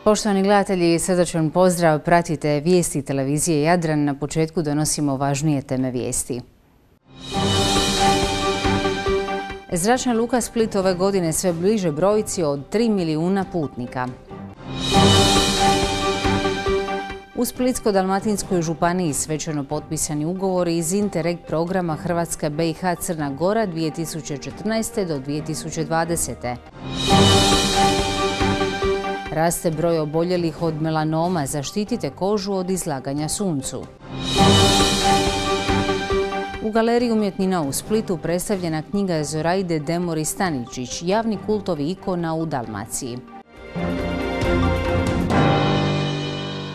Poštovani gledatelji, srdačan pozdrav. Pratite vijesti televizije Jadran. Na početku donosimo važnije teme vijesti. Zračna luka Split ove godine sve bliže brojci od 3 milijuna putnika. U Splitsko-dalmatinskoj županiji svečano potpisani ugovori iz Interreg programa Hrvatska, BiH, Crna Gora 2014. do 2020. Raste broj oboljelih od melanoma, zaštitite kožu od izlaganja suncu. U Galeriji umjetnina u Splitu predstavljena knjiga Zoraide Demori Staničić, javni kultovi ikona u Dalmaciji.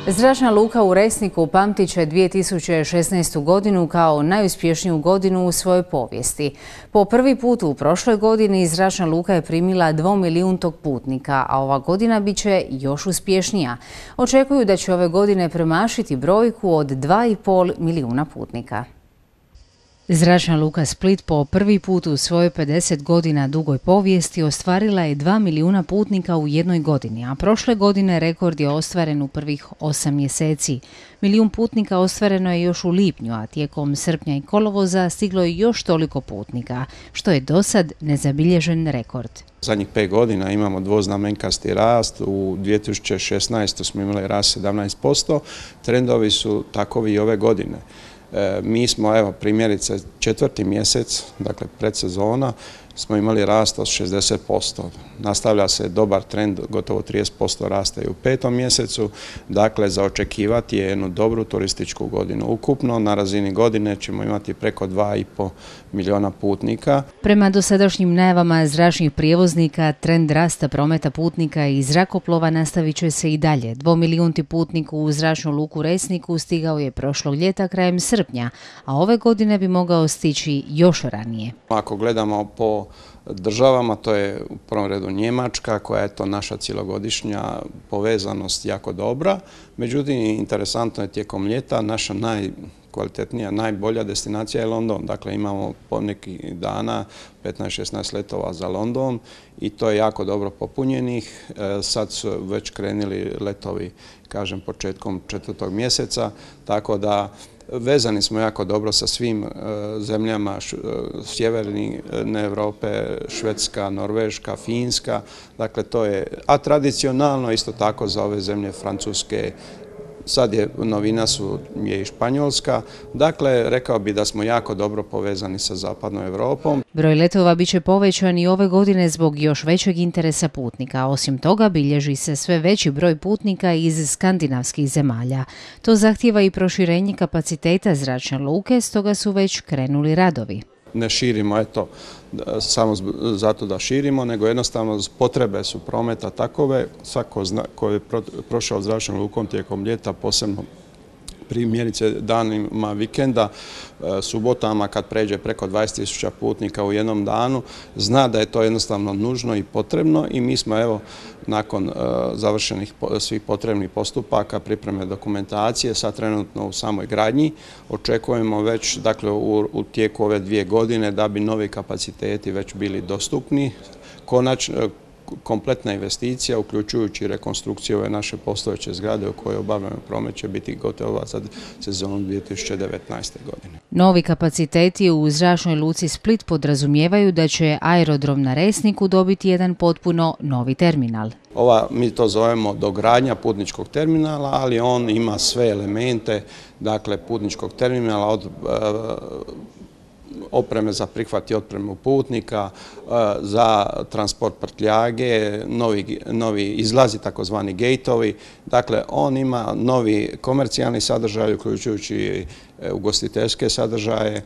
Zračna luka u Resniku pamtit će 2016. godinu kao najuspješniju godinu u svojoj povijesti. Po prvi put u prošloj godini zračna luka je primila 2 milijuntog putnika, a ova godina bit će još uspješnija. Očekuju da će ove godine premašiti brojku od 2,5 milijuna putnika. Zračna luka Split po prvi put u svojoj 50 godina dugoj povijesti ostvarila je 2 milijuna putnika u jednoj godini, a prošle godine rekord je ostvaren u prvih 8 mjeseci. Milijun putnika ostvareno je još u lipnju, a tijekom srpnja i kolovoza stiglo je još toliko putnika, što je dosad nezabilježen rekord. Zadnjih 5 godina imamo dvoznamenkasti rast, u 2016. smo imali rast 17%, trendovi su takovi i ove godine. Mi smo, evo, primjerice, 4. mjesec, dakle predsezona, smo imali rast od 60%. Nastavlja se dobar trend, gotovo 30% rasta i u 5. mjesecu. Dakle, za očekivati je jednu dobru turističku godinu. Ukupno na razini godine ćemo imati preko 2,5 milijuna putnika. Prema dosadašnjim najavama zračnih prijevoznika, trend rasta prometa putnika i zrakoplova nastavit će se i dalje. 2 milijunti putnik u zračnu luku Resniku stigao je prošlog ljeta krajem srpnja, a ove godine bi mogao stići još ranije. Ako gledamo po državama, to je u prvom redu Njemačka, koja je to naša cijelogodišnja povezanost jako dobra. Međutim, interesantno je tijekom ljeta naša najkvalitetnija, najbolja destinacija je London. Dakle, imamo po nekih dana 15-16 letova za London i to je jako dobro popunjenih. Sad su već krenuli letovi, kažem, početkom 4. mjeseca, tako da vezani smo jako dobro sa svim zemljama sjeverne Europe, Švedska, Norveška, Finska. Dakle, to je, a tradicionalno isto tako za ove zemlje Francuske, sad je novina je i Španjolska. Dakle, rekao bi da smo jako dobro povezani sa zapadnom Europom. Broj letova biće povećan i ove godine zbog još većeg interesa putnika. Osim toga, bilježi se sve veći broj putnika iz skandinavskih zemalja. To zahtijeva i proširenje kapaciteta zračne luke, stoga su već krenuli radovi. Ne širimo, eto, samo zato da širimo, nego jednostavno potrebe su prometa takove. Svako ko je prošao zračnom lukom tijekom ljeta, posebno primjerice danima vikenda, subotama kad pređe preko 20.000 putnika u jednom danu, zna da je to jednostavno nužno i potrebno i mi smo, evo, nakon završenih svih potrebnih postupaka, pripreme dokumentacije, sad trenutno u samoj gradnji, očekujemo već, dakle, u tijeku ove 2 godine da bi novi kapaciteti već bili dostupni. Konačno, kompletna investicija, uključujući rekonstrukciju ove naše postojeće zgrade u kojoj obavljamo promet, će biti gotova za sezonu 2019. godine. Novi kapaciteti u zračnoj luci Split podrazumijevaju da će aerodrom na Resniku dobiti jedan potpuno novi terminal. Mi to zovemo dogradnja putničkog terminala, ali on ima sve elemente, dakle, putničkog terminala od opreme za prihvat i otpremu putnika, za transport prtljage, novi izlazi, takozvani gejtovi. Dakle, on ima novi komercijalni sadržaj, uključujući ugostiteljske sadržaje,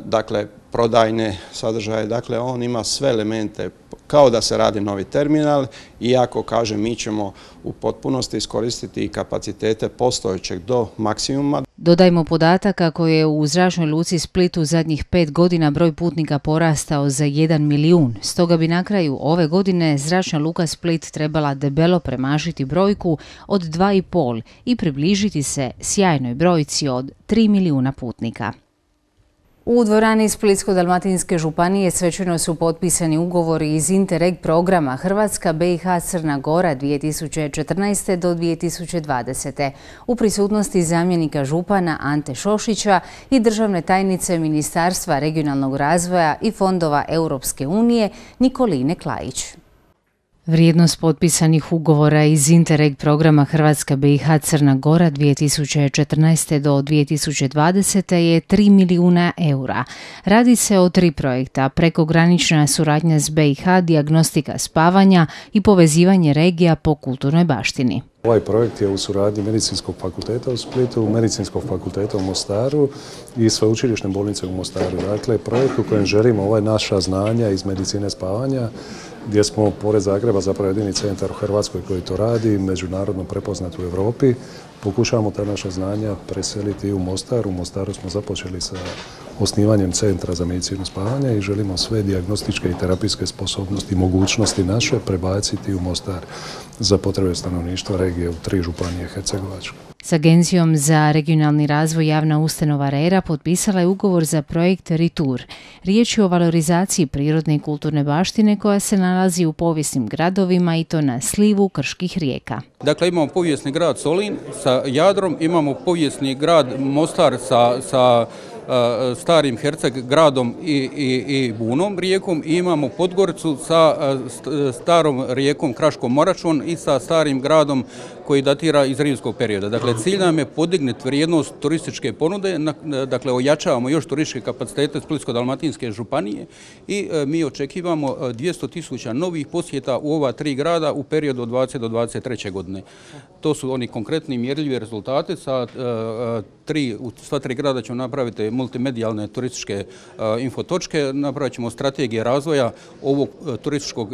dakle, prodajne sadržaje. Dakle, on ima sve elemente kao da se radi novi terminal, iako, kažem, mi ćemo u potpunosti iskoristiti kapacitete postojećeg do maksimuma. Dodajmo podatak kako je u zračnoj luci Splitu zadnjih 5 godina broj putnika porastao za 1 milijun. Stoga bi na kraju ove godine zračna luka Split trebala debelo premašiti brojku od 2,5 i približiti se sjajnoj brojci od 3 milijuna putnika. U dvorani Splitsko-dalmatinske županije svečano su potpisani ugovori iz Interreg programa Hrvatska, BiH, Crna Gora 2014. do 2020. u prisutnosti zamjenika župana Ante Šošića i državne tajnice Ministarstva regionalnog razvoja i fondova Europske unije Nikoline Klajić. Vrijednost potpisanih ugovora iz Interreg programa Hrvatska, BiH, Crna Gora 2014. do 2020. je 3 milijuna eura. Radi se o 3 projekta: prekogranična suradnja s BiH, dijagnostika spavanja i povezivanje regija po kulturnoj baštini. Ovaj projekt je u suradnji Medicinskog fakulteta u Splitu, Medicinskog fakulteta u Mostaru i Sveučilišne bolnice u Mostaru. Dakle, projekt u kojem želimo ova naša znanja iz medicine spavanja, gdje smo pored Zagreba zapravo jedini centar u Hrvatskoj koji to radi, međunarodno prepoznat u Europi. Pokušavamo ta naša znanja preseliti i u Mostar. U Mostaru smo započeli sa osnivanjem centra za medicinu spavanja i želimo sve dijagnostičke i terapijske sposobnosti i mogućnosti naše prebaciti u Mostar za potrebe stanovništva regije u 3 županije Hercegovačke. S Agencijom za regionalni razvoj javna ustanova RERA potpisala je ugovor za projekt Ritur. Riječ je o valorizaciji prirodne i kulturne baštine koja se nalazi u povijesnim gradovima i to na slivu krških rijeka. Dakle, imamo povijesni grad Solin sa Jadrom, imamo povijesni grad Mostar sa starim Herceg gradom i Bunom rijekom i imamo Podgoricu sa starom rijekom Kraškom Moračom i sa starim gradom koji datira iz rimskog perioda. Dakle, cilj nam je podignuti vrijednost turističke ponude, dakle ojačavamo još turističke kapacitete Splitsko-dalmatinske županije i mi očekivamo 200.000 novih posjeta u ova 3 grada u periodu od 20 do 23. godine. To su oni konkretni mjerljivi rezultati. U sva 3 grada ćemo napraviti multimedijalne turističke infotočke, napravit ćemo strategije razvoja ovog turističkog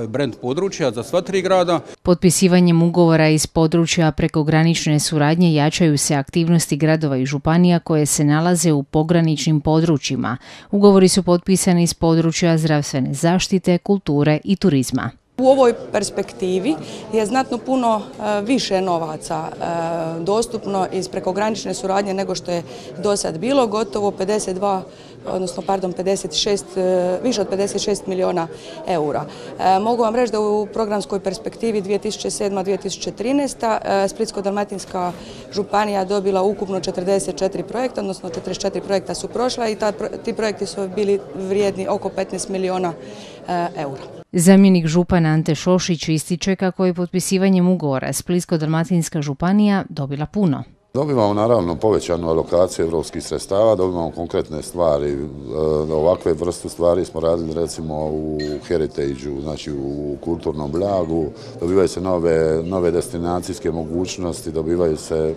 brand područja za sva 3 grada. Potpisivanjem ugovora iz područja prekogranične suradnje jačaju se aktivnosti gradova i županija koje se nalaze u pograničnim područjima. Ugovori su potpisani iz područja zdravstvene zaštite, kulture i turizma. U ovoj perspektivi je znatno puno više novaca dostupno iz prekogranične suradnje nego što je do sad bilo, gotovo 56, više od 56 milijuna eura. Mogu vam reći da u programskoj perspektivi 2007-2013 Splitsko-dalmatinska županija dobila ukupno 44 projekta, odnosno 44 projekta su prošla i ti projekti su bili vrijedni oko 15 milijuna eura. Zamjenik župana Ante Šošić ističe kako je potpisivanjem ugovora Splitsko-dalmatinska županija dobila puno. Dobivamo naravno povećanu alokaciju evropskih sredstava, dobivamo konkretne stvari. Ovakve vrste stvari smo radili recimo u Heritage-u, znači u kulturnom blagu. Dobivaju se nove destinacijske mogućnosti, dobivaju se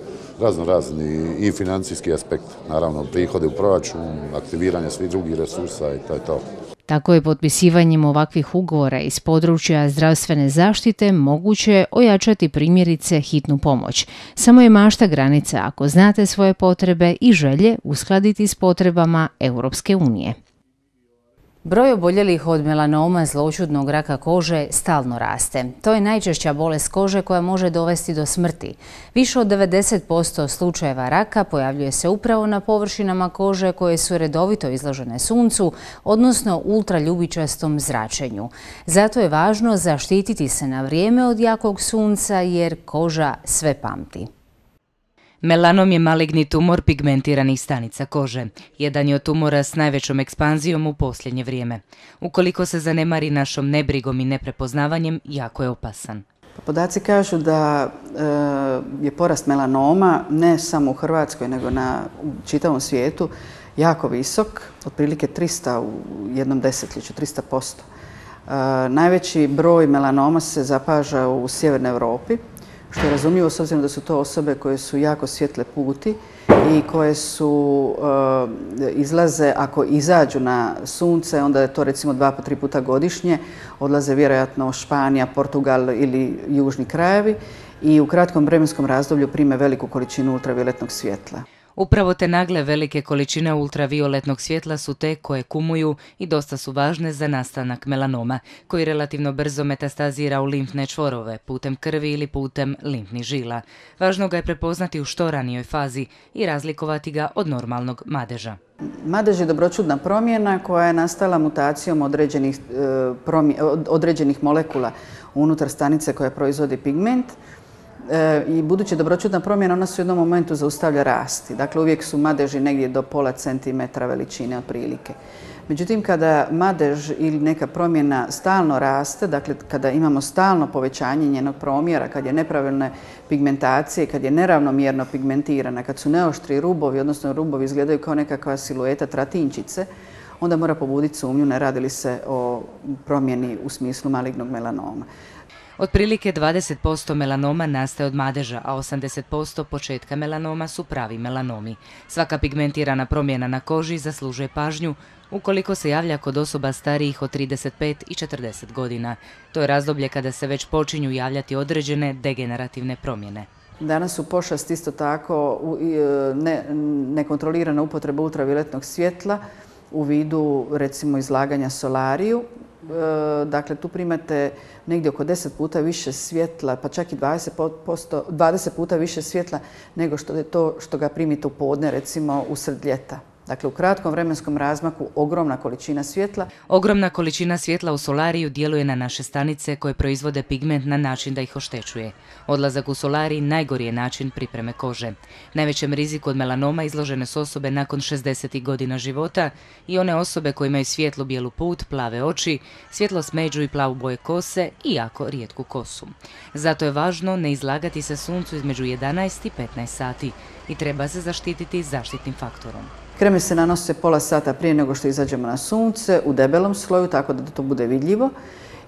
razni i financijski aspekt, naravno prihode u proračun, aktiviranje svih drugih resursa i to je to. Tako je potpisivanjem ovakvih ugovora iz područja zdravstvene zaštite moguće ojačati primjerice hitnu pomoć. Samo je mašta granica ako znate svoje potrebe i želje uskladiti s potrebama Europske unije. Broj oboljelih od melanoma, zloćudnog raka kože, stalno raste. To je najčešća bolest kože koja može dovesti do smrti. Više od 90% slučajeva raka pojavljuje se upravo na površinama kože koje su redovito izložene suncu, odnosno ultraljubičastom zračenju. Zato je važno zaštititi se na vrijeme od jakog sunca jer koža sve pamti. Melanom je maligni tumor pigmentiranih stanica kože. Jedan je od tumora s najvećom ekspanzijom u posljednje vrijeme. Ukoliko se zanemari našom nebrigom i neprepoznavanjem, jako je opasan. Podaci kažu da je porast melanoma ne samo u Hrvatskoj, nego u čitavom svijetu jako visok, otprilike 300 u jednom desetljeću, 300%. Najveći broj melanoma se zapaža u sjevernoj Europi, što je razumljivo s obzirom da su to osobe koje su jako svjetle puti i koje izlaze, ako izađu na sunce, onda je to recimo 2-3 puta godišnje, odlaze vjerojatno Španija, Portugal ili južni krajevi i u kratkom vremenskom razdoblju prime veliku količinu ultravioletnog svjetla. Upravo te nagle velike količine ultravioletnog svjetla su te koje kumuju i dosta su važne za nastanak melanoma, koji relativno brzo metastazira u limfne čvorove, putem krvi ili putem limfnih žila. Važno ga je prepoznati u što ranijoj fazi i razlikovati ga od normalnog madeža. Madež je dobroćudna promjena koja je nastala mutacijom određenih molekula unutar stanice koja proizvodi pigment. I budući dobroćudna promjena, ona se u jednom momentu zaustavlja rasti. Dakle, uvijek su madeži negdje do pola centimetra veličine otprilike. Međutim, kada madež ili neka promjena stalno raste, dakle kada imamo stalno povećanje njenog promjera, kad je nepravilne pigmentacije, kad je neravnomjerno pigmentirana, kad su neoštri rubovi, odnosno rubovi izgledaju kao nekakva silueta tratinčice, onda mora pobuditi sumnju ne radi li se o promjeni u smislu malignog melanoma. Otprilike 20% melanoma nastaje od madeža, a 80% početka melanoma su pravi melanomi. Svaka pigmentirana promjena na koži zaslužuje pažnju ukoliko se javlja kod osoba starijih od 35 i 40 godina. To je razdoblje kada se već počinju javljati određene degenerativne promjene. Danas su pošast isto tako nekontrolirana upotreba ultravioletnog svjetla u vidu recimo izlaganja solariju. Dakle, tu primate negdje oko 10 puta više svjetla, pa čak i 20 puta više svjetla nego što je to što ga primite u podne, recimo usred ljeta. Dakle, u kratkom vremenskom razmaku ogromna količina svjetla. Ogromna količina svjetla u solariju djeluje na naše stanice koje proizvode pigment na način da ih oštećuje. Odlazak u solarij najgori je način pripreme kože. Najvećem riziku od melanoma izložene su osobe nakon 60 godina života i one osobe koje imaju svijetlo bijelu put, plave oči, svjetlo smeđu i plavu boje kose i jako rijetku kosu. Zato je važno ne izlagati se suncu između 11 i 15 sati i treba se zaštititi zaštitnim faktorom. Kreme se nanose pola sata prije nego što izađemo na sunce, u debelom sloju, tako da to bude vidljivo.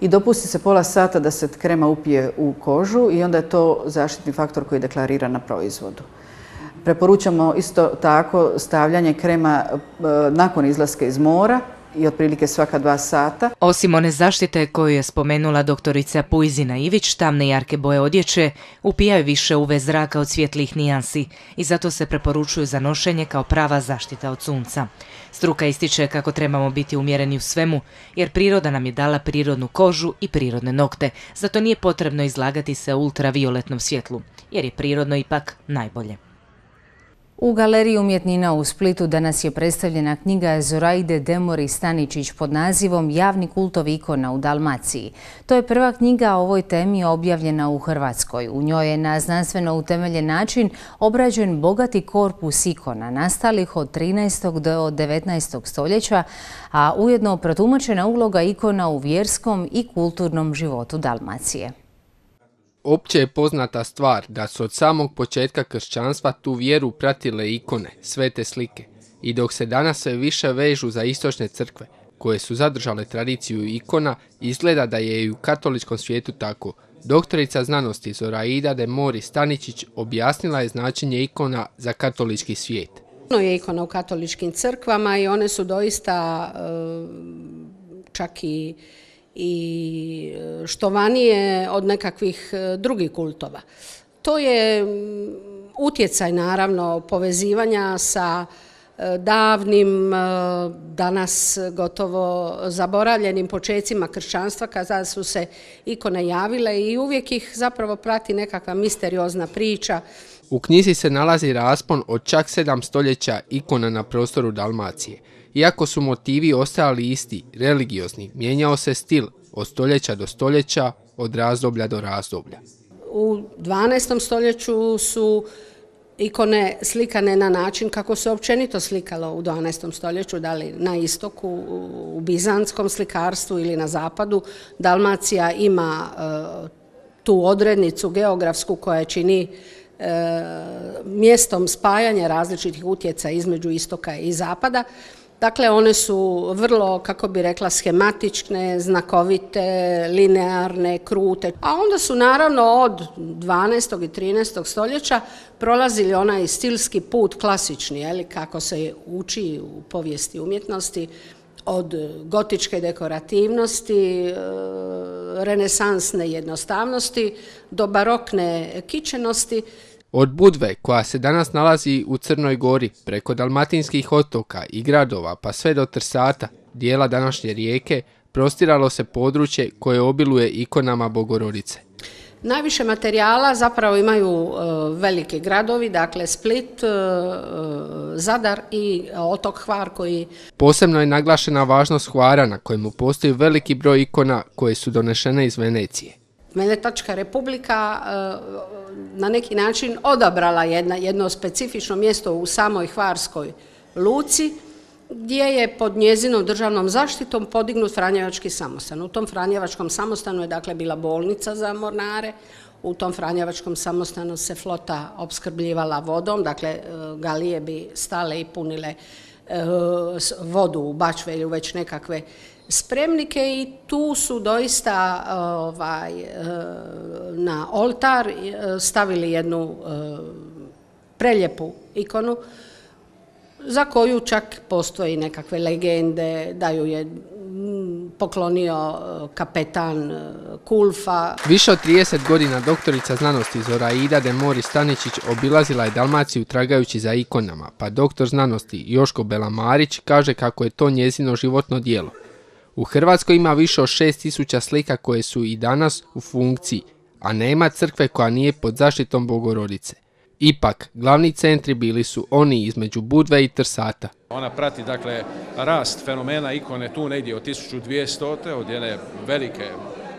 I dopusti se pola sata da se krema upije u kožu i onda je to zaštitni faktor koji je deklariran na proizvodu. Preporučamo isto tako stavljanje krema nakon izlaska iz mora i otprilike svaka 2 sata. Osim one zaštite koju je spomenula doktorica Pujzina Ivić, tamne jarke boje odjeće upijaju više UV zraka od svjetlih nijansi i zato se preporučuju za nošenje kao prava zaštita od sunca. Struka ističe kako trebamo biti umjereni u svemu, jer priroda nam je dala prirodnu kožu i prirodne nokte, zato nije potrebno izlagati se ultravioletnom svjetlu, jer je prirodno ipak najbolje. U Galeriji umjetnina u Splitu danas je predstavljena knjiga Zoraide Demori Staničić pod nazivom Javni kultov ikona u Dalmaciji. To je prva knjiga o ovoj temi objavljena u Hrvatskoj. U njoj je na znanstveno utemeljen način obrađen bogati korpus ikona nastalih od 13. do 19. stoljeća, a ujedno protumačena uloga ikona u vjerskom i kulturnom životu Dalmacije. Opće je poznata stvar da su od samog početka kršćanstva tu vjeru pratile ikone, svete slike. I dok se danas sve više vežu za istočne crkve, koje su zadržale tradiciju ikona, izgleda da je i u katoličkom svijetu tako. Doktorica znanosti Zoraida Demori Staničić objasnila je značenje ikona za katolički svijet. Puno je ikona u katoličkim crkvama i one su doista čak i štovanije od nekakvih drugih kultova. To je utjecaj naravno povezivanja sa davnim, danas gotovo zaboravljenim počecima kršćanstva kada su se ikone javile i uvijek ih zapravo prati nekakva misteriozna priča. U knjizi se nalazi raspon od čak 7 stoljeća ikona na prostoru Dalmacije. Iako su motivi ostajali isti, religiozni, mijenjao se stil od stoljeća do stoljeća, od razdoblja do razdoblja. U 12. stoljeću su ikone slikane na način kako se općenito slikalo u 12. stoljeću, da li na istoku, u bizantskom slikarstvu ili na zapadu. Dalmacija ima tu odrednicu geografsku koja čini mjestom spajanja različitih utjecaja između istoka i zapada. Dakle, one su vrlo, kako bi rekla, schematične, znakovite, linearne, krute. A onda su naravno od 12. i 13. stoljeća prolazili onaj stilski put klasični, kako se uči u povijesti umjetnosti, od gotičke dekorativnosti, renesansne jednostavnosti do barokne kičenosti. Od Budve, koja se danas nalazi u Crnoj Gori, preko dalmatinskih otoka i gradova pa sve do Trsata, dijela današnje Rijeke, prostiralo se područje koje obiluje ikonama Bogorodice. Najviše materijala zapravo imaju veliki gradovi, dakle Split, Zadar i otok Hvar koji... Posebno je naglašena važnost Hvara na kojemu postoji veliki broj ikona koje su donešene iz Venecije. Venetačka republika na neki način odabrala jedno specifično mjesto u samoj Hvarskoj luci, gdje je pod njezinom državnom zaštitom podignut Franjevački samostan. U tom Franjevačkom samostanu je dakle bila bolnica za mornare, u tom Franjevačkom samostanu se flota opskrbljivala vodom, dakle galije bi stale i punile vodu u Bačvelju, već nekakve spremnike i tu su doista na oltar stavili jednu prelijepu ikonu za koju čak postoji nekakve legende da ju je poklonio kapetan Kulfa. Više od 30 godina doktorica znanosti Zoraida de Mori Staničić obilazila je Dalmaciju tragajući za ikonama, pa doktor znanosti Joško Belamarić kaže kako je to njezino životno djelo. U Hrvatskoj ima više od 6000 slika koje su i danas u funkciji, a nema crkve koja nije pod zaštitom Bogorodice. Ipak, glavni centri bili su oni između Budve i Trsata. Ona prati dakle rast fenomena ikone tu negdje od 1200. od jedne velike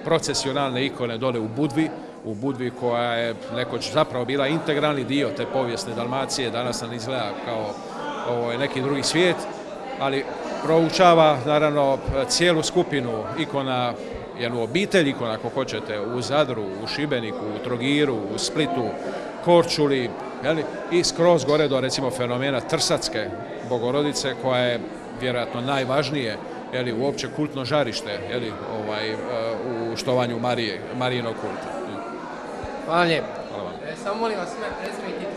procesionalne ikone dole u Budvi koja je nekoć zapravo bila integralni dio te povijesne Dalmacije, danas nam izgleda kao neki drugi svijet, ali proučava naravno cijelu skupinu ikona, jednu obitelj ikona ako hoćete u Zadru, u Šibeniku, u Trogiru, u Splitu, Korčuli, i skroz gore do recimo fenomena Trsatske Bogorodice koja je vjerojatno najvažnije uopće kultno žarište u štovanju Marijinog kulta. Hvala lijepo. Samo molim vas sve prezime.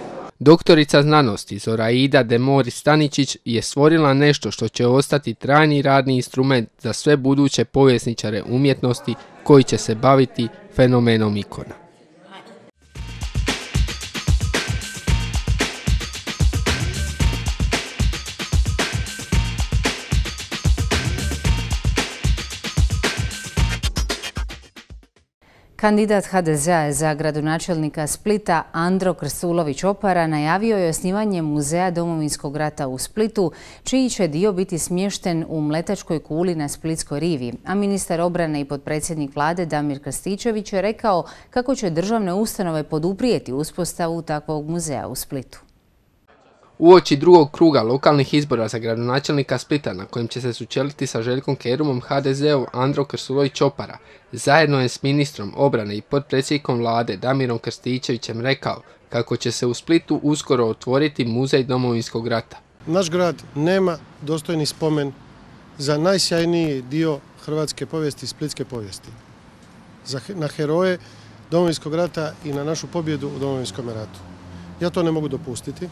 Doktorica znanosti Zoraida de Mori Staničić je stvorila nešto što će ostati trajni radni instrument za sve buduće povjesničare umjetnosti koji će se baviti fenomenom ikona. Kandidat HDZ-a za gradonačelnika Splita Andro Krstulović-Opara najavio je osnivanje Muzeja Domovinskog rata u Splitu, čiji će dio biti smješten u Mletačkoj kuli na Splitskoj rivi, a ministar obrane i potpredsjednik vlade Damir Krstičević je rekao kako će državne ustanove poduprijeti uspostavu takvog muzeja u Splitu. Uoči drugog kruga lokalnih izbora za gradonačelnika Splita, na kojem će se sučeliti sa Željkom Kerumom, HDZ-ov Andro Krstulović-Opara zajedno je s ministrom obrane i potpredsjednikom vlade Damirom Krstičevićem rekao kako će se u Splitu uskoro otvoriti Muzej Domovinskog rata. Naš grad nema dostojni spomen za najsjajniji dio hrvatske povijesti, splitske povijesti. Na heroje Domovinskog rata i na našu pobjedu u Domovinskom ratu. Ja to ne mogu dopustiti.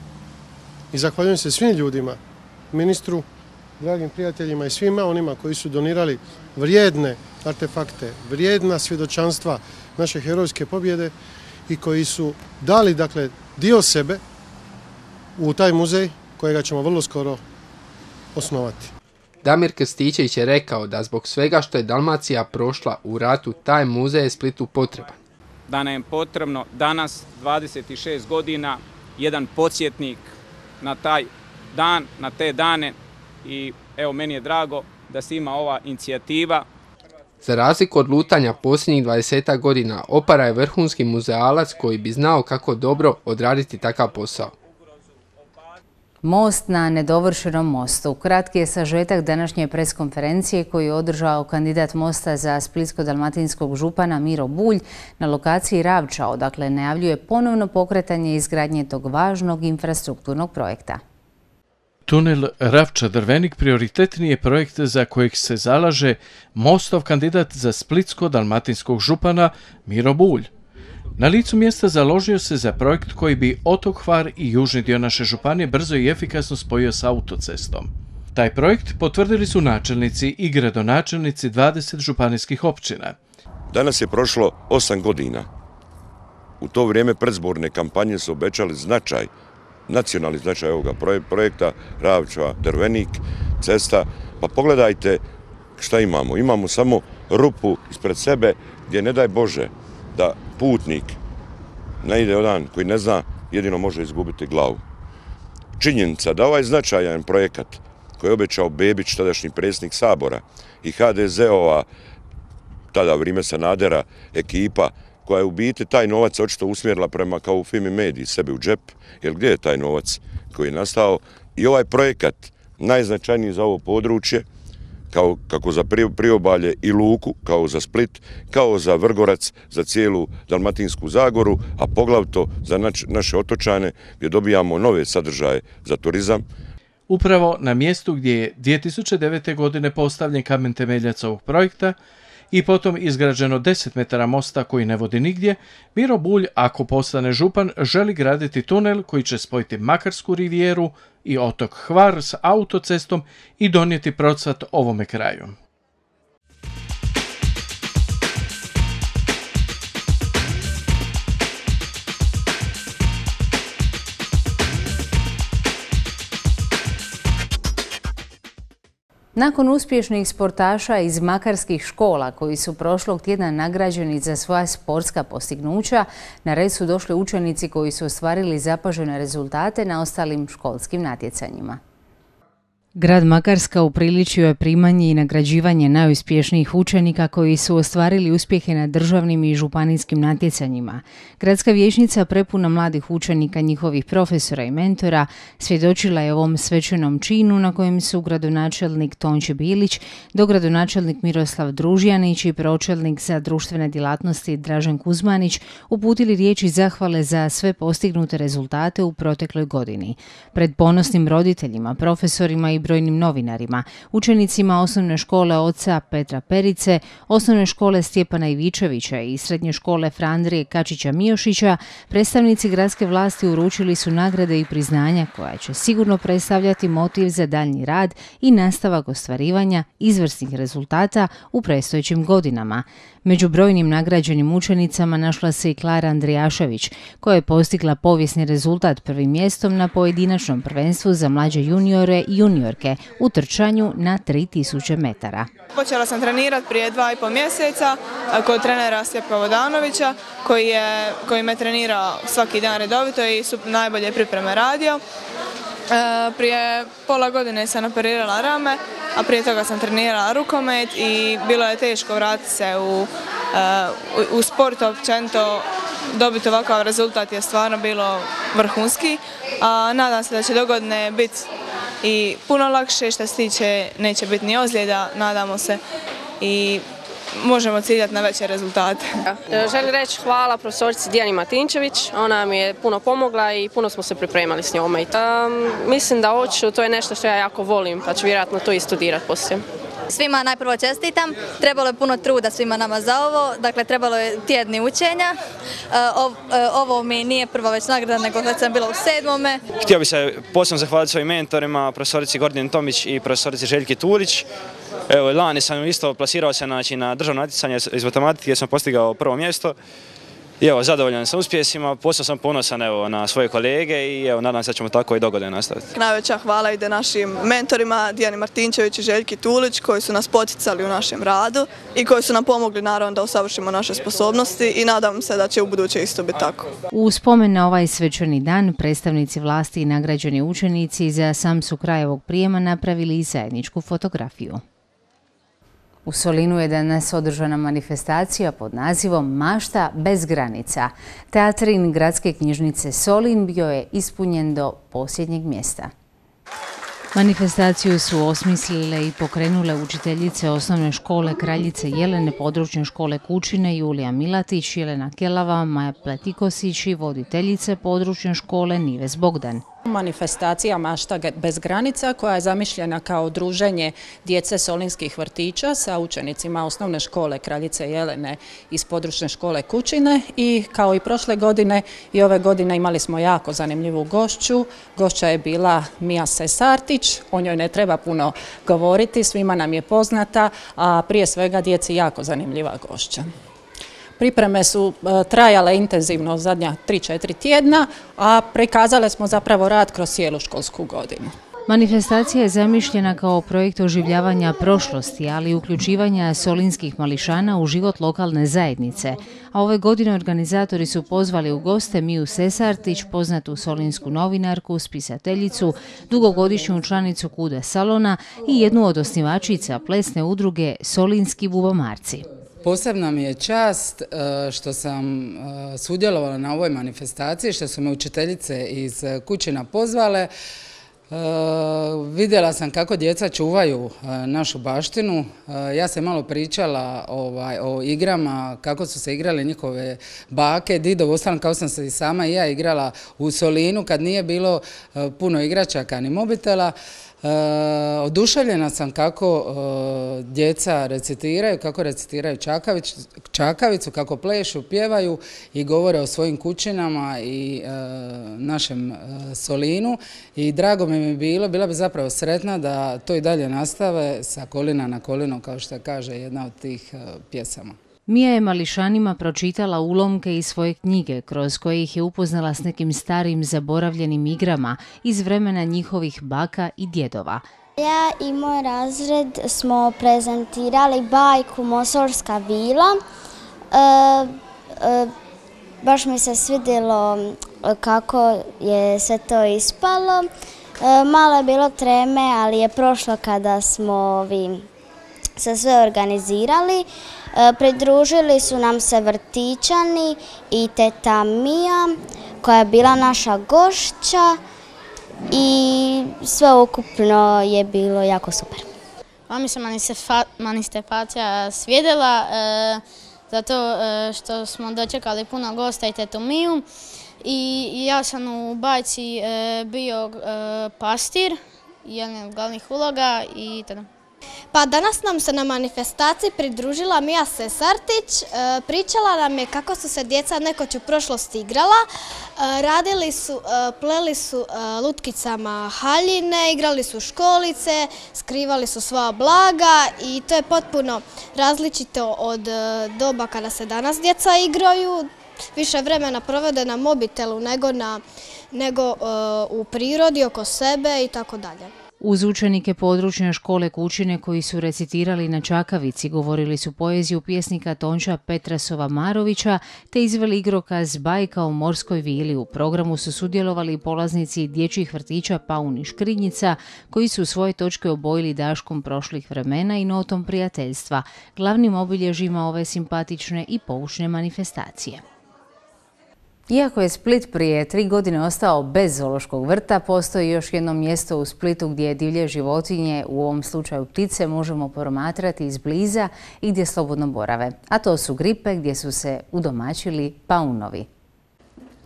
I zahvaljujem se svim ljudima, ministru, dragim prijateljima i svima onima koji su donirali vrijedne artefakte, vrijedna svjedočanstva naše herojske pobjede i koji su dali dakle dio sebe u taj muzej kojega ćemo vrlo skoro osnovati. Damir Krstičević je rekao da zbog svega što je Dalmacija prošla u ratu, taj muzej je Splitu potreban. Da nam je potrebno danas, 26 godina, jedan podsjetnik na taj dan, na te dane i evo meni je drago da se ima ova inicijativa. Za razliku od lutanja posljednjih 20 godina, Opara je vrhunski muzealac koji bi znao kako dobro odraditi takav posao. Most na nedovršenom mostu. Kratki je sažetak današnje preskonferencije koju je održao kandidat Mosta za splitsko-dalmatinskog župana Miro Bulj na lokaciji Ravča, odakle najavljuje ponovno pokretanje izgradnje tog važnog infrastrukturnog projekta. Tunel Ravča-Drvenik prioritetni je projekt za kojeg se zalaže Mostov kandidat za splitsko-dalmatinskog župana Miro Bulj. Na licu mjesta založio se za projekt koji bi otok Hvar i južni dio naše županije brzo i efikasno spojio s autocestom. Taj projekt potvrdili su načelnici i gradonačelnici 20 županijskih općina. Danas je prošlo 8 godina u to vrijeme predzborne kampanje su obećali značaj, nacionalni značaj ovoga projekta Ravča-Drvenik, cesta. Pa pogledajte šta imamo. Imamo samo rupu ispred sebe gdje ne daj Bože da putnik ne ide odan koji ne zna, jedino može izgubiti glavu. Činjenica da ovaj značajan projekat koji je obećao Bebić, tadašnji predsjednik Sabora, i HDZ-ova, tada vrijeme Sanadera, ekipa, koja je u biti taj novac očito usmjerila prema, kao u Fimi Mediji, sebi u džep, jer gdje je taj novac koji je nastao? I ovaj projekat, najznačajniji za ovo područje, kako za Priobalje i Luku, kao za Split, kao za Vrgorac, za cijelu Dalmatinsku Zagoru, a poglavito za naše otočane gdje dobijamo nove sadržaje za turizam. Upravo na mjestu gdje je 2009. godine postavljen kamen temeljac ovog projekta i potom izgrađeno 10 metara mosta koji ne vodi nigdje, Miro Bulj, ako postane župan, želi graditi tunel koji će spojiti Makarsku rivijeru i otok Hvar s autocestom i donijeti procvat ovome kraju. Nakon uspješnih sportaša iz makarskih škola koji su prošlog tjedna nagrađeni za svoja sportska postignuća, na red su došli učenici koji su ostvarili zapažene rezultate na ostalim školskim natjecanjima. Grad Makarska upriličio je primanje i nagrađivanje najuspješnijih učenika koji su ostvarili uspjehe na državnim i županijskim natjecanjima. Gradska vijećnica prepuna mladih učenika, njihovih profesora i mentora svjedočila je ovom svečanom činu na kojem su gradonačelnik Tonči Bilić, dogradonačelnik Miroslav Družjanić i pročelnik za društvene djelatnosti Dražen Kuzmanić uputili riječi zahvale za sve postignute rezultate u protekloj godini. Pred ponosnim roditeljima, profesorima i brojnim novinarima, učenicima osnovne škole oca Petra Perice, osnovne škole Stjepana Ivičevića i srednje škole Fra Andrije Kačića-Miošića, predstavnici gradske vlasti uručili su nagrade i priznanja koja će sigurno predstavljati motiv za daljnji rad i nastavak ostvarivanja izvrsnih rezultata u predstojećim godinama. Među brojnim nagrađenim učenicama našla se i Klara Andrijašević, koja je postigla povijesni rezultat prvim mjestom na pojedinačnom prvenstvu za mlađe juniore i juniorke u trčanju na 3000 metara. Počela sam trenirati prije 2,5 mjeseca kod trenera Stjepka Vodanovića, koji me trenira svaki dan redovito i su najbolje pripreme radio. Prije pola godine sam operirala rame, a prije toga sam trenirala rukomet i bilo je teško vratiti se u sport općenito. Dobiti ovakav rezultat je stvarno bilo vrhunski, a nadam se da će dogodine biti i puno lakše, što se tiče neće biti ni ozljeda, nadamo se, i možemo ciljati na veće rezultate. Želim reći hvala profesorici Dijani Martinčević, ona mi je puno pomogla i puno smo se pripremali s njome. Mislim da hoću, to je nešto što ja jako volim, pa ću vjerojatno to i studirati poslije. Svima najprvo čestitam, trebalo je puno truda svima nama za ovo, dakle trebalo je tjedni učenja. Ovo mi nije prva već nagrada, nego već sam bila u 7. Htio bih se posebno zahvaliti svojim mentorima, profesorici Gordini Tomić i profesorici Željki Tulić. Evo, lani sam isto plasirao se na državno natjecanje iz matematike gdje sam postigao prvo mjesto. I evo, zadovoljan sam uspjesima, posebno sam ponosan na svoje kolege i evo, nadam se da ćemo tako i dogodine nastaviti. Najveća hvala ide našim mentorima Dijani Martinčević i Željki Tulić, koji su nas poticali u našem radu i koji su nam pomogli naravno da usavršimo naše sposobnosti i nadam se da će u buduće isto biti tako. U spomen na ovaj svečani dan predstavnici vlasti i nagrađeni učenici za sam su kraj ovog prijema napravili i zajedničku fotografiju. U Solinu je danas održana manifestacija pod nazivom Mašta bez granica. Teatrin Gradske knjižnice Solin bio je ispunjen do posljednjeg mjesta. Manifestaciju su osmislile i pokrenule učiteljice osnovne škole Kraljice Jelene, područne škole Kučine, Julija Milatić, Jelena Kelava, Maja Pletikosić i voditeljice područne škole Nives Bogdan. Manifestacija Mašta bez granica, koja je zamišljena kao druženje djece solinskih vrtića sa učenicima osnovne škole Kraljice Jelene iz područne škole Kučine, i kao i prošle godine i ove godine imali smo jako zanimljivu gošću. Gošća je bila Mija Sesartić, o njoj ne treba puno govoriti, svima nam je poznata, a prije svega djeci jako zanimljiva gošća. Pripreme su trajale intenzivno zadnja 3-4 tjedna, a prikazale smo zapravo rad kroz cijelu školsku godinu. Manifestacija je zamišljena kao projekt oživljavanja prošlosti, ali i uključivanja solinskih mališana u život lokalne zajednice. A ove godine organizatori su pozvali u goste Miju Sesartić, poznatu solinsku novinarku, spisateljicu, dugogodišnju članicu KUDE salona i jednu od osnivačica plesne udruge Solinski bubomarci. Posebna mi je čast što sam sudjelovala na ovoj manifestaciji, što su me učiteljice iz Kućina pozvale. Vidjela sam kako djeca čuvaju našu baštinu. Ja sam malo pričala o igrama, kako su se igrale njihove bake, didovi, ostalo kao sam se i sama i ja igrala u Solinu kad nije bilo puno igračaka ni mobitela. Oduševljena sam kako djeca recitiraju, kako recitiraju čakavicu, kako plešu, pjevaju i govore o svojim kućinama i našem Solinu. I drago mi je bila bi zapravo sretna da to i dalje nastave sa kolina na kolino, kao što kaže jedna od tih pjesama. Mija je mališanima pročitala ulomke iz svoje knjige, kroz koje ih je upoznala s nekim starim zaboravljenim igrama iz vremena njihovih baka i djedova. Ja i moj razred smo prezentirali bajku Mosolska vila. Baš mi se svidjelo kako je sve to ispalo. Malo je bilo treme, ali je prošlo kada smo se sve organizirali. Pridružili su nam se vrtićani i teta Mija koja je bila naša gošća i sve ukupno je bilo jako super. Ova mi se manifestacija svidjela zato što smo dočekali puno gosta i tetu Miju i ja sam u bajci bio pastir, jedna od glavnih uloga i tada. Pa danas nam se na manifestaciji pridružila Mija Sesartić, pričala nam je kako su se djeca nekoć u prošlosti igrala, pleli su lutkicama haljine, igrali su školice, skrivali su svoja blaga i to je potpuno različito od doba kada se danas djeca igraju. Više vremena provode na mobitelu nego u prirodi, oko sebe i tako dalje. Uz učenike područne škole Kućine koji su recitirali na čakavici, govorili su poeziju pjesnika Tonča Petrasova Marovića te izveli igrokaz Bajka o morskoj vili. U programu su sudjelovali polaznici dječjih vrtića Paun i Škrinjica koji su svoje točke obojili daškom prošlih vremena i notom prijateljstva, glavnim obilježjima ove simpatične i poučne manifestacije. Iako je Split prije 3 godine ostao bez zoološkog vrta, postoji još jedno mjesto u Splitu gdje divlje životinje, u ovom slučaju ptice, možemo promatrati izbliza i gdje slobodno borave. A to su Gripe gdje su se udomaćili paunovi.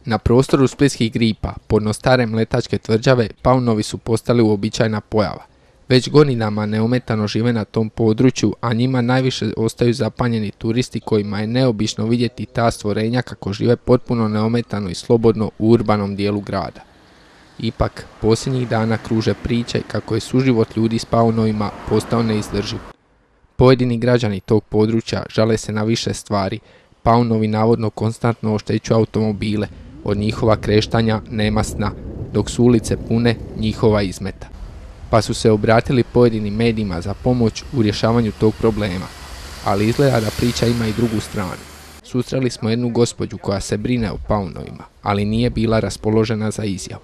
Na prostoru splitskih Gripa, podno stare mletačke tvrđave, paunovi su postali uobičajena pojava. Već godinama neometano žive na tom području, a njima najviše ostaju zapanjeni turisti kojima je neobično vidjeti ta stvorenja kako žive potpuno neometano i slobodno u urbanom dijelu grada. Ipak, posljednjih dana kruže priče kako je suživot ljudi s paunovima postao neizdrživ. Pojedini građani tog područja žale se na više stvari. Paunovi navodno konstantno oštećuju automobile, od njihova kreštanja nema sna, dok su ulice pune njihova izmeta. Pa su se obratili pojedinim medijima za pomoć u rješavanju tog problema. Ali izgleda da priča ima i drugu stranu. Susreli smo jednu gospođu koja se brine o paunovima, ali nije bila raspoložena za izjavu.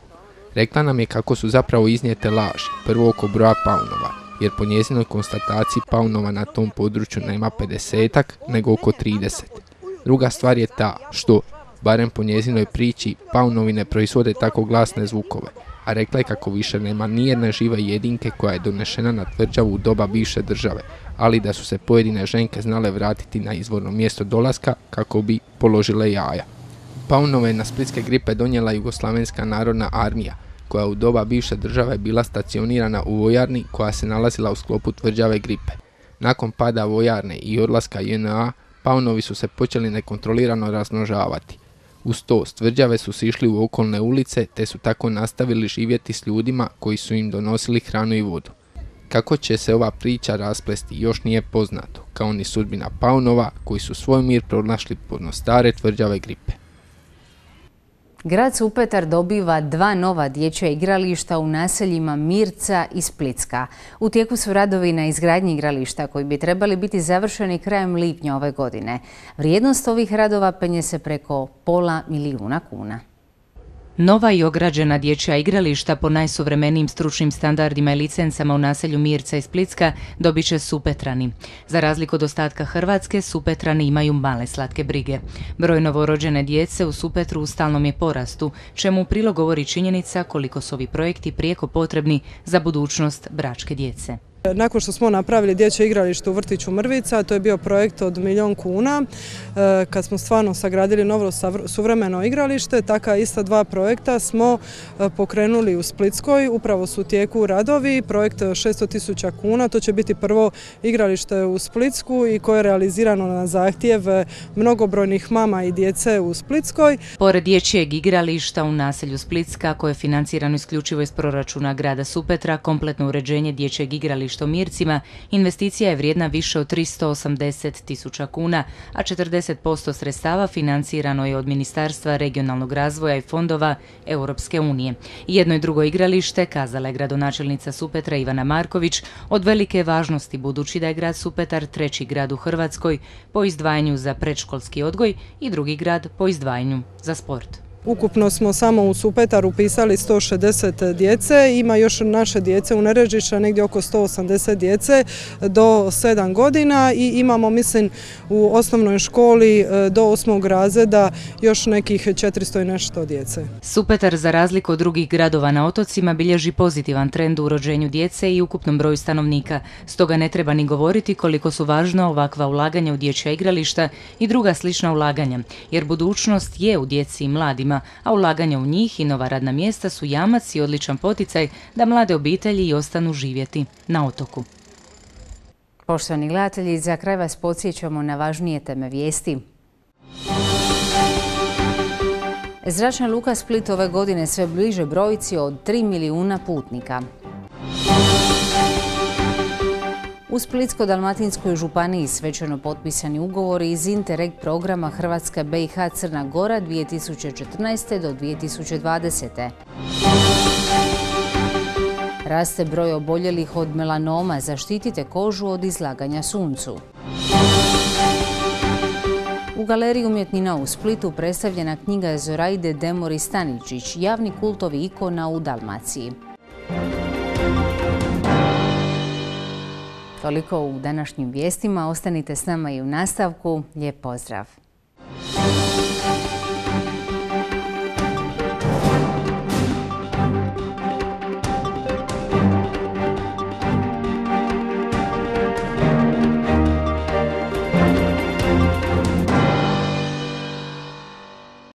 Rekla nam je kako su zapravo iznijete laži, prvo oko broja paunova, jer po njezinoj konstataciji paunova na tom području nema 50-ak, nego oko 30. Druga stvar je ta što, barem po njezinoj priči, paunovi ne proizvode tako glasne zvukove, a rekla je kako više nema nijedne žive jedinke koja je donešena na tvrđavu u doba bivše države, ali da su se pojedine ženke znale vratiti na izvorno mjesto dolaska kako bi položile jaja. Paunove na splitske Gripe donijela Jugoslavenska narodna armija, koja u doba bivše države bila stacionirana u vojarni koja se nalazila u sklopu tvrđave Gripe. Nakon pada vojarne i odlaska JNA, paunovi su se počeli nekontrolirano razmnožavati. Uz to, s tvrđave su sišli u okolne ulice te su tako nastavili živjeti s ljudima koji su im donosili hranu i vodu. Kako će se ova priča rasplesti još nije poznato, kao ni sudbina paunova koji su svoj mir pronašli podno stare tvrđave Gripe. Grad Supetar dobiva 2 nova dječja igrališta u naseljima Mirca i Splitska. U tijeku su radovi na izgradnji igrališta koji bi trebali biti završeni krajem lipnja ove godine. Vrijednost ovih radova penje se preko $500.000 kuna. Nova i ograđena dječja igrališta po najsuvremenijim stručnim standardima i licencama u naselju Mirca i Splitska dobit će Supetrani. Za razliku od ostatka Hrvatske, Supetrani imaju male slatke brige. Broj novorođene djece u Supetru u stalnom je porastu, čemu u prilog govori činjenica koliko su ovi projekti prijeko potrebni za budućnost bračke djece. Nakon što smo napravili dječje igralište u vrtiću Mrvica, to je bio projekt od $1.000.000 kuna, kad smo stvarno sagradili novo suvremeno igralište, taka ista 2 projekta smo pokrenuli u Splitskoj, upravo su u tijeku radovi, projekt 600.000 kuna, to će biti prvo igralište u Splitsku i koje je realizirano na zahtjev mnogobrojnih mama i djece u Splitskoj. Pored dječjeg igrališta u naselju Splitska, koje je financirano isključivo iz proračuna grada Supetra, kompletno uređenje dječjeg igrališta u Mircima, investicija je vrijedna više od 380.000 kuna, a 40% sredstava financirano je od Ministarstva regionalnog razvoja i fondova Europske unije. Jedno i drugo igralište, kazala je gradonačelnica Supetra Ivana Marković, od velike važnosti budući da je grad Supetar 3. grad u Hrvatskoj po izdvajanju za predškolski odgoj i 2. grad po izdvajanju za sport. Ukupno smo samo u Supetaru upisali 160 djece, ima još naše djece u Nerežišća, negdje oko 180 djece do 7 godina i imamo, mislim, u osnovnoj školi do 8. razreda još nekih 400 i nešto djece. Supetar, za razliku od drugih gradova na otocima, bilježi pozitivan trend u rođenju djece i ukupnom broju stanovnika. Stoga ne treba ni govoriti koliko su važna ovakva ulaganja u dječja igrališta i druga slična ulaganja, jer budućnost je u djeci i mladima, a ulaganja u njih i nova radna mjesta su jamac i odličan poticaj da mlade obitelji i ostanu živjeti na otoku. Poštovani gledatelji, za kraj vas podsjećamo na važnije teme vijesti. Zračna luka Split ove godine sve bliže brojci od 3 milijuna putnika. U Splitsko-dalmatinskoj županiji svečano potpisani ugovori iz Interreg programa Hrvatska BiH Crna Gora 2014. do 2020. Raste broj oboljelih od melanoma, zaštitite kožu od izlaganja suncu. U Galeriji umjetnina u Splitu predstavljena knjiga Zoraide Demori Staničić, javni kultovi ikona u Dalmaciji. Toliko u današnjim vijestima, ostanite s nama i u nastavku. Lijep pozdrav!